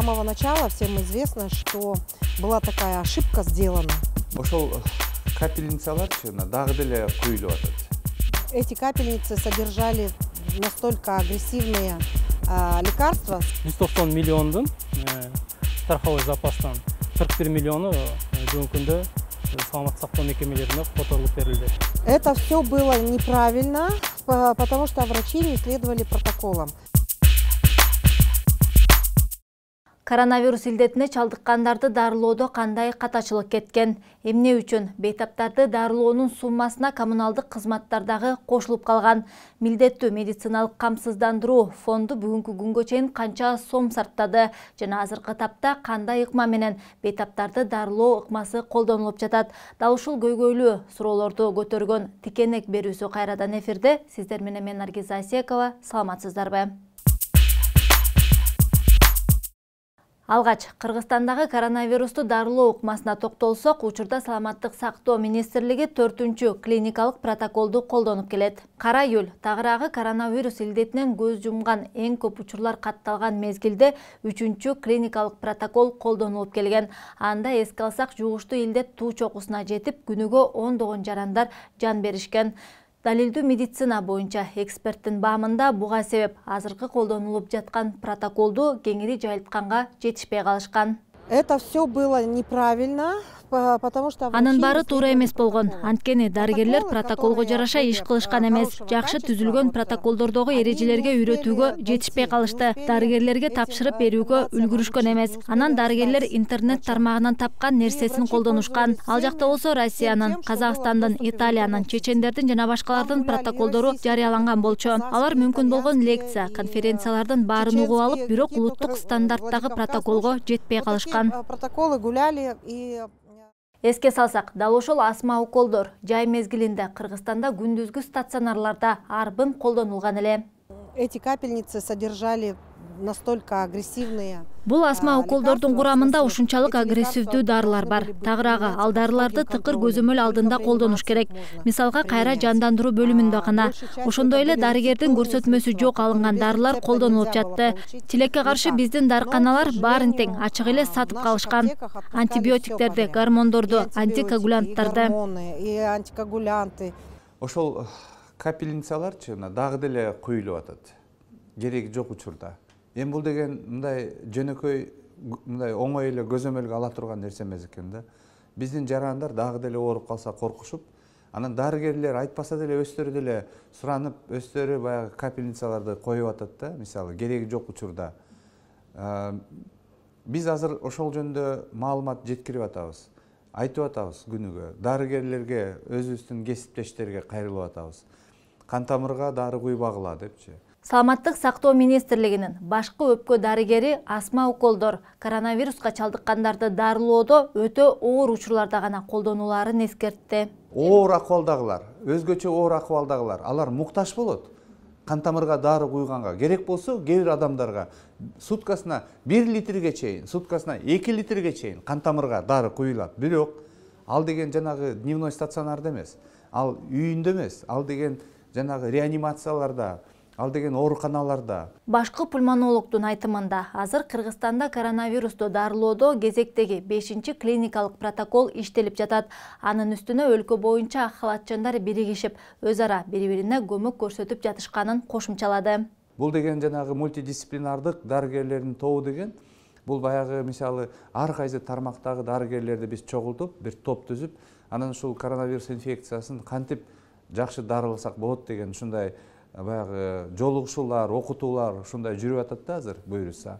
самого начала всем известно, что была такая ошибка сделана. Ошол капельницаларчы дагы деле куюлуп атат. Эти капельницы содержали настолько агрессивные лекарства. 190 миллиондун страховой запастан 41 миллиону бүгүнкү күндө саламаттык сактоо мекемелерине которулуп берилди. Это все было неправильно, потому что врачи не следовали протоколам. Коронавирус илдетине чалдыккандарды дарылоодо кандай катачылык кеткен? Эмне үчүн бейтаптарды дарылоонун суммасына коммуналдык кызматтардагы кошулуп калган? Милдеттүү медициналык камсыздандыруу фонду бүгүнкү күнгө чейин канча сом сарптады жана азыркы тапта кандай ыкма менен бейтаптарды дарылоо ыкмасы колдонулуп жатат? Дал ушул көйгөйлүү суроолорду көтөргөн тикенек берүүсү кайрадан эфирде. Сиздер менен мен Наргиз Асиекова. Саламатсыздарбы? Алгач, Кыргызстандагы коронавирусту дарылоо ыкмасына токтолсок, учурда саламаттык сактоо министрлиги 4-чү клиникалык протоколду колдонуп келет. Кара июль тагыраагы коронавирус илдетинен көз жумган эң көп учурлар катталган мезгилде 3-чү клиникалык протокол колдонулуп келген. Анда эске алсак, жугуштуу илдет туу чокусуна жетип, күнүгө ондогон жарандар жан беришкен. Далилдүү медицина боюнча эксперттин баамында буга себеп азыркы колдонулуп жаткан протоколду кеңири жайылтканга жетишпей калышкан. Это все было неправильно, потому что анын баары туура эмес болгон. Анткени дарыгерлер протоколго жараша иш кылышкан эмес. Жакшы түзүлгөн протоколдордогу эрежелерге үйрөтүүгө жетишпей калышты. Дарыгерлерге тапшырып берүүгө үлгүрүшкөн эмес. Анан дарыгерлер интернет тармагынан тапкан нерсесин колдонушкан. Ал жакта болсо Россиянын, Казакстандын, Италиянын, чечендердин жана башкалардын протоколдору жарыяланган болчу. Алар мүмкүн болгон лекция, конференциялардын баарын угуп алып, бирок улуттук стандарттагы протоколго жетпей калышкан. Протоколы гуляли и... Эске салсак, дал ошол астма уколдор жай мезгилинде Кыргызстанда күндүзгү стационарларда арбын колдонулган эле. Эти капельницы содержали настолько агрессивные. Бул астма уколдордун курамында ушунчалык агрессивдүү дарылар бар. Тагыраагы ал дарыларды тыкыр көзөмөл алдында колдонуш керек. Мисалга, кайра жандандыруу бөлүмүндө гана. Ошондой эле дарыгердин көрсөтмөсү жок алынган дарылар колдонулуп жатты. Тилекке каршы биздин дарыканалар баарын тең ачык эле сатып калышкан. Антибиотиктерди, гормондорду, антикоагулянттарды. Ошол капельницаларчы дагы деле куюлуп атат. Кереги жок учурда. Эми бул деген мындай жөнөкөй, мындай оңой эле көзөмөлгө ала турган нерсе эмес экен да. Биздин жарандар дагы деле ооруп калса коркушуп, анан дарыгерлер айтпаса деле өздөрү деле суранып, өздөрү баягы капельницаларды коюп атат да, мисалы кереги жок учурда. Биз азыр ошол жөнүндө маалымат жеткирип атабыз. Айтып атабыз күнүгө. Дарыгерлерге, өзүбүздүн кесиптештерге кайрылып атабыз. Кан тамырга дары куйбагыла депчи. Саламаттык сактоо министрлигинин башкы өпкө дарыгери астма уколдор коронавируска чалдыккандарды дарылоодо өтө оор учурларда гана колдонуларын эскертти. Оор акыбалдагылар, өзгөчө оор акыбалдагылар, алар муктаж болот. Кан тамырга дары куйганга керек болсо, кээ бир адамдарга суткасына 1 литрге чейин, суткасына 2 литрге чейин кан тамырга дары куюлат. Бирок ал деген жанагы дневной стационарда эмес, ал үйүндө эмес, ал деген жанагы реанимацияларда, ал деген ооруканаларда. Башкы пульмонологдун айтымында, азыр Кыргызстанда коронавирусту дарылоодо кезектеги 5-чи клиникалык протокол иштелип жатат. Анын үстүнө өлкө боюнча ак халатчандар биригишип, өз ара бири-бирине көмөк көрсөтүп жатышканын кошумчалады. Бул деген жанагы мультидисциплинардык дарыгерлердин тобу деген, бул баягы мисалы ар кайсы тармактагы дарыгерлерди биз чогултуп, бир топ түзүп, анан ушул коронавирус инфекциясын кантип жакшы дарыласак болот деген ушундай баягы жолугушуулар, окутуулар ушундай жүрүп атат да азыр буюрса.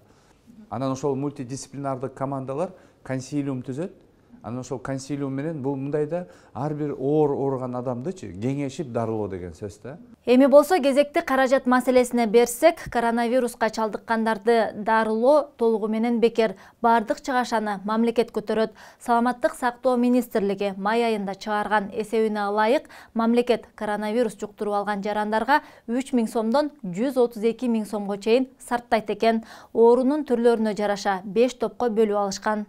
Анан ошол мультидисциплинардык командалар консилиум түзөт. Анан ошол консилиум менен бул мындайда ар бир ооруган адамдычы кеңешип дарылоо деген сөз да. Эми болсо кезекти каражат маселесине берсек, коронавируска чалдыккандарды дарылоо толугу менен бекер. Бардык чыгашаны мамлекет көтөрөт. Саламаттык сактоо министрлиги май айында чыгарган эсебине ылайык мамлекет коронавирус жуктуруп алган жарандарга 3000 сомдон 132 000 сомго чейин сарптайт экен. Оорунун түрлөрүнө жараша 5 топко бөлүп алышкан.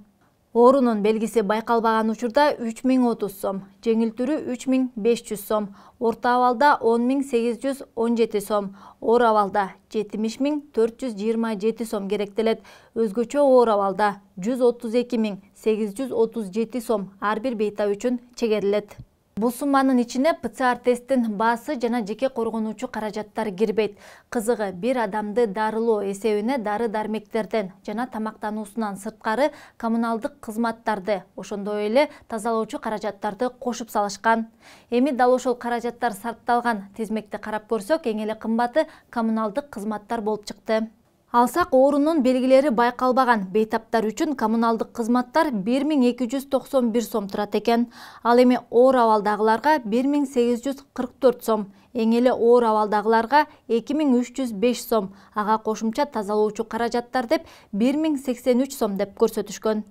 Оорунун белгиси байкалбаган учурда 3030 сом, жеңил түрү 3500 сом, орто абалда 10817 сом, оор абалда 70427 сом керектелет. Өзгөчө оор абалда 132837 сом ар бир бейтап үчүн чегерилет. Бул сумманын ичине ПЦР тесттин баасы жана жеке коргонуучу каражаттар кирбейт. Кызыгы, бир адамды дарылоо эсебине дары-дармектерден жана тамактануусунан сырткары коммуналдык кызматтарды, ошондой эле тазалоочу каражаттарды кошуп салышкан. Эми дал ошол каражаттар сарпталган тизмекти карап көрсөк, эң эле кымбаты коммуналдык кызматтар болуп чыкты. Алсак, оорунун белгилери байкалбаган бейтаптар үчүн коммуналдык кызматтар 1291 сом турат экен. Ал эми оор абалдагыларга 1844 сом, эң эле оор абалдагыларга 2305 сом, ага кошумча тазалоочу каражаттар деп 1083 сом деп көрсөтүшкөн.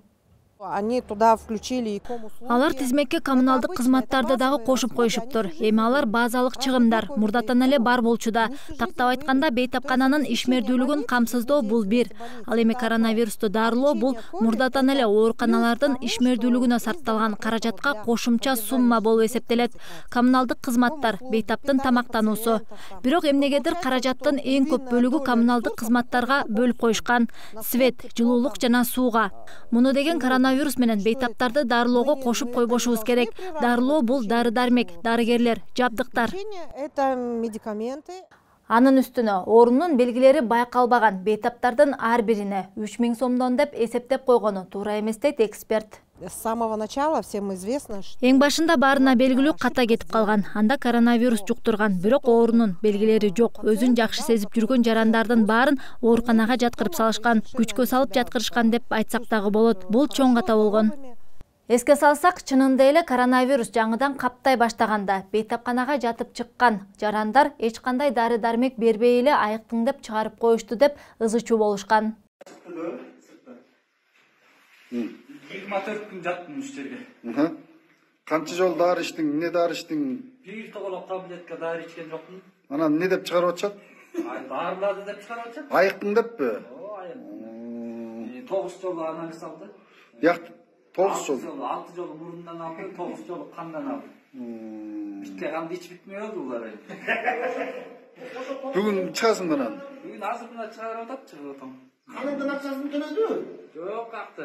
Они туда включили и ком-услуги. Алар тизмекке коммуналдык кызматтарды дагы кошуп коюшуптур. Эми алар базалык чыгымдар мурдатан эле бар болчуда. Тактап айтканда, бейтапкананын ишмердүүлүгүн камсыздоо бул бир. Ал эми коронавирусту дарылоо бул мурдатан эле ооруканалардын ишмердүүлүгүнө сарпталган каражатка кошумча сумма болуп эсептелет. Коммуналдык кызматтар, бейтаптын тамактануусу. Бирок эмнегедир каражаттын эң көп бөлүгү коммуналдык кызматтарга бөлүп коюшкан. Свет, жылуулук жана сууга. Муну деген коронавирус менен бейтаптарды дарылоого кошуп койбошубуз керек. Дарылоо бул дары-дармек, дарыгерлер, жабдыктар. Это медикаменты. Анын үстүнө оорунун белгилери байкалбаган бейтаптардын ар бирине 3000 сомдон деп эсептеп койгону туура эмес дейт эксперт. С самого начала всем известно, что... Эң башында баарына белгилүү ката кетип калган. Анда коронавирус жуктурган, бирок оорунун белгилери жок. Өзүн жакшы сезип жүргөн жарандардын баарын ооруканага жаткырып салышкан, күчкө салып жаткырышкан деп айтсак дагы болот. Бул чоң ката болгон. Эске салсак, чынында эле коронавирус жаңыдан каптай баштаганда бейтапканага жатып чыккан жарандар эч кандай дары-дармек бербей эле айыктың деп чыгарып коюшту деп ызычуу болушкан. 24 күн жаттым үч жерге. Канча жол дары иштиң, эмне дары иштиң? Бир тоголок таблетка дары ичкен жокмун. Анан эмне деп чыгарып атышат? Дарыларды деп чыгарып атышат. Айыктың деппи? Айык. 9 жолу анализ алды. Як 9 жол. 6 жолу мурундан алды, 9 жолу кандан алды. Битке канды ич битмей болду булар. Бүгүн чыгасың анан? Бүгүн азыр мына чыгарып атат, чыгып атам. Каныңдын акчасын төлөдү? Жок, акты.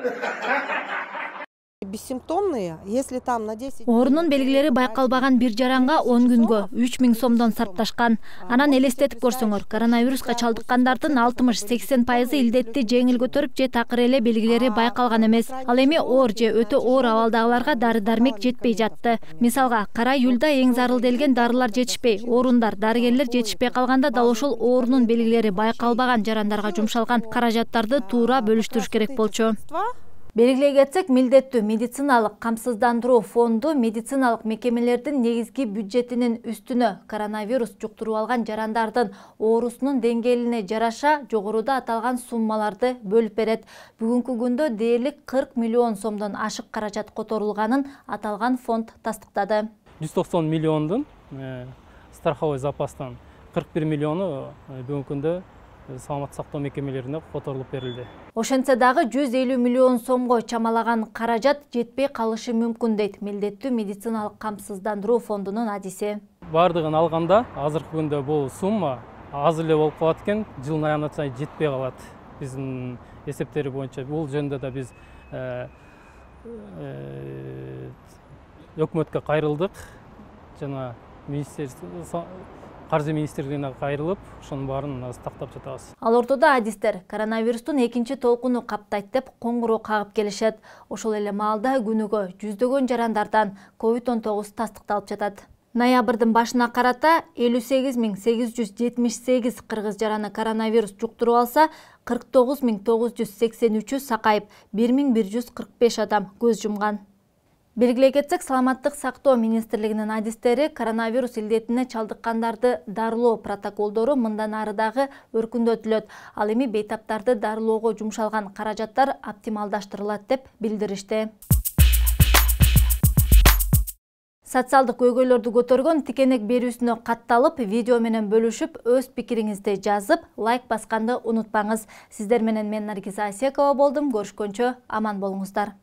Бессимптомные, если там на 10... Оорунун белгилери байкалбаган бир жаранга 10 күнгө 3000 сомдон сарпташкан. Анан элестетип көрсөңөр, коронавируска чалдыккандардын 60-80% илдетти жеңил көтөрүп же такыр эле белгилери байкалган эмес. Ал эми оор же өтө оор абалдагыларга дары-дармек жетпей жатты. Мисалга, кара июлда эң зарыл делген дарылар жетишпей, орундар, дарыгерлер жетишпей калганда дал ошол оорунун белгилери байкалбаган жарандарга жумшалган каражаттарды туура бөлүштүрүш керек болчу. Белгилей кетсек, милдеттүү медициналык камсыздандыруу фонду медициналык мекемелердин негизги бюджетинин үстүнө коронавирус жуктуруп алган жарандардын оорусунун деңгээлине жараша жогоруда аталган суммаларды бөлүп берет. Бүгүнкү күндө дээрлик 40 миллион сомдон ашык каражат которулганын аталган фонд тастыктады. 190 миллиондун страховой запастан 41 миллиону бүгүнкү күндө саламаттык сактоо мекемелерине которулуп берилди. Ошентсе дагы 150 миллион сомго чамалаган каражат жетпей калышы мүмкүн дейт милдеттүү медициналык камсыздандыруу фондунун адиси. Бардыгын алганда азыркы күндө бул сумма аз эле болуп калат экен, жылдын аягына чейин жетпей калат. Биздин эсептери боюнча бул жөнүндө да биз өкмөткө кайрылдык жана Каржы министрлигине кайрылып, ошонун баарын тактап жатабыз. Ал ортодо адистер коронавирустун экинчи толкуну каптайт деп коңгуроо кагып келишет. Ошол эле маалда күнүгө жүздөгөн жарандардан COVID-19 тастыкталып жатат. Ноябрдын башына карата 58.878 кыргыз жараны коронавирус жуктуруп алса, 49.983 сакайып, 1.145 адам көз жумган. Белгилей кетсек, саламаттык сактоо министрлигинин адистери коронавирус илдетине чалдыккандарды дарылоо протоколдору мындан ары дагы өркүндөтүлөт. Ал эми бейтаптарды дарылоого жумшалган каражаттар оптималдаштырылат деп билдиришти. Социалдык көйгөйлөрдү көтөргөн тикенек берүүсүнө катталып, видео менен бөлүшүп, өз пикириңизди жазып, лайк басканды унутпаңыз. Сиздер менен мен Наргиза Асекова болдум. Көрүшкөнчө аман болуңуздар.